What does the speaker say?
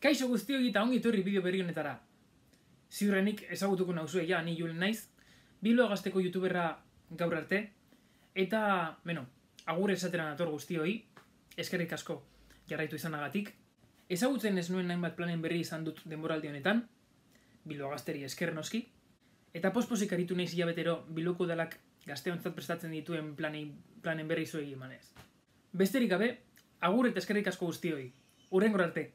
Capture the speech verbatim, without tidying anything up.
Kaixo guztioi eta ongi etorri bideo berri honetara. Ziurrenik ezagutuko nauzue ja, ni Julen naiz, Bilbo Gazteko youtuberra gaur arte, eta, beno, agur esatera nator guztioi, eskerrik asko jarraitu izanagatik. Ezagutzen ez nuen hainbat planen berri izan dut denboraldi honetan, Bilbo Gazteri esker noski, eta posposik aritu naiz hilabetero Bilboko udalak gazteontzat prestatzen dituen planei, planen berri zuei emanez. Besterik gabe, agur eta eskerrik asko guztioi. Hurrengora arte.